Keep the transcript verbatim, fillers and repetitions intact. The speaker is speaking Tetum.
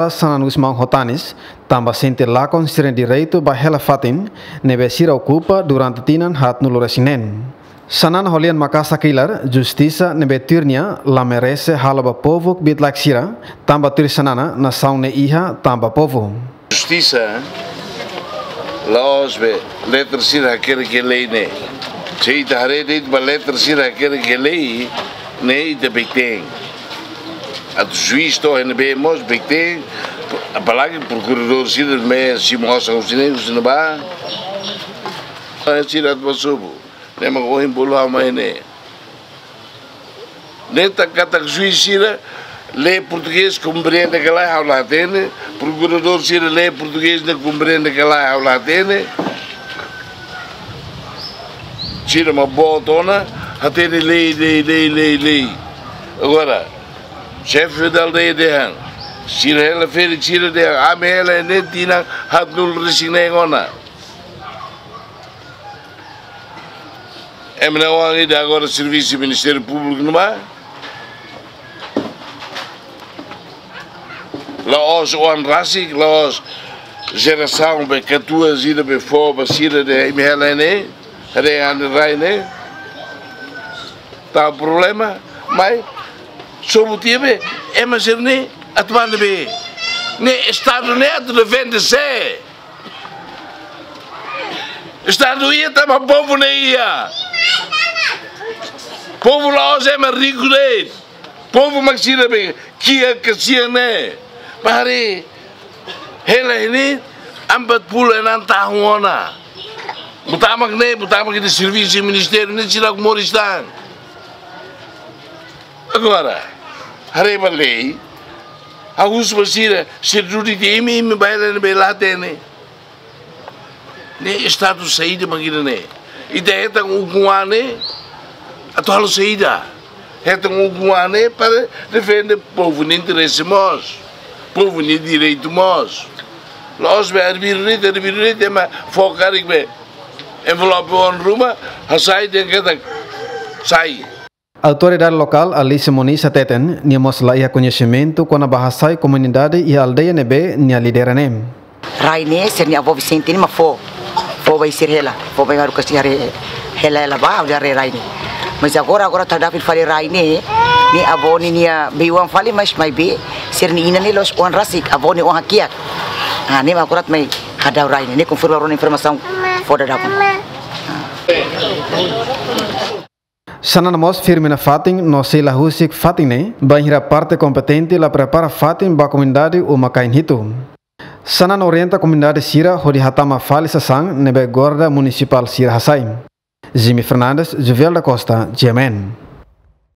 Sanan Gusmão ho tanis, tanba sente lakon sira-nia direitu ba hela fatin ne'ebé sira okupa durante tinan haatnulu resin neen. Sanan ho lian Makasak kilar, justisa ne'ebé tuir nia la merese halo ba povu kbiit-laek sira, tanba tuir Sanan, nasaun ne'e iha tanba povu. Justisa, la'ós be letra sira hakerek iha lei ne'e. Se ita haree de'it ba letra sira hakerek iha lei ne'e, ita bele hatene. Atu juís to'o iha ne'ebé mós bele hatene, apalagi prokuradór sira ne'ebé simu osan husi ne'e, husi ne'ebá. Sira atu ba sobu. Ne'e mak ohin bolu ha'u mai ne'e. Ne'e tanba katak juís sira lee portugés, komprende ka lae, ha'u la hatene. Prokuradór sira lee portugés, ne'e komprende ka lae, ha'u la hatene. Sira mak boot ona, hatene lei, lei, lei, lei, lei. Agora, xefe da aldeia dehan, sira hela ferik, sira dehan, ami hela ne'e tinan haatnulu resin neen ona. Ema ne'e oan ida agora servisu Ministériu Públiku ne'ebá. La'ós oan rasik, la'ós jerasaun be katuas ida be fó ba sira dehan imi hela ne'e, haree ha'u-nia rai ne'e. Tau problema, mai sobu tiha be, ema sira-ne'e atu bá ne'ebé? Ne'e Estadu ne'e atu defende sé? Estadu iha tanba povu ne'e iha. Povu la'ós ema riku de'it. Povu mak sira be kiak kasian ne'e. Bá haree, hela ne'e empat puluh enam tahun ona. Buat mak ne'e, buat mak ita servisu ministériu ne'e sira moris tan. Agora, haree ba lei, ha'u husu ba sira, sira duni de'it imi, imi bá hela ne'ebé la hatene. Ne'e Estadu saida mak ida-ne'e? Ita hetan ukun-an ne'e atu halo saida? Hetan ukun-an ne'e para defende povu nia interese mós, povu nia direitu mós. La'ós be arbiru de'it, arbiru de'it, ema fó karik be envelope oan ruma, hasai dehan katak sai. Autoridade lokál Alice Moniz hateten, nia mós la iha koñesimentu kona-ba hasai komunidade iha aldeia ne'ebé nia lidera ne'e. Rai ne'e sira-nia avó Vicente ne'e mak fó, fó ba sira hela, fó ba Maru Kasi haree hela, hela ba, haree rai ne'e. Mas agora, agora ita daudaun fila fali rai ne'e, ne'e avó ne'e nia bei-oan fali, mas maibé sira-nia inan ne'e la'ós oan rasik, avó ne'e oan hakiak. Ah, ne'e mak agora atu mai hadau rai ne'e, ne'e konforme agora informasaun fó daudaun. Sanan mós firme nafatin no sei la husik fatin ne'e, bainhira parte kompetente la prepara fatin ba komunidade uma-kain hitu. Sanan orienta komunidade sira hodi hatama fali sasán ne'ebé guarda munisipál sira hasai. Jimmy Fernandes, Juvel da Costa, G M N.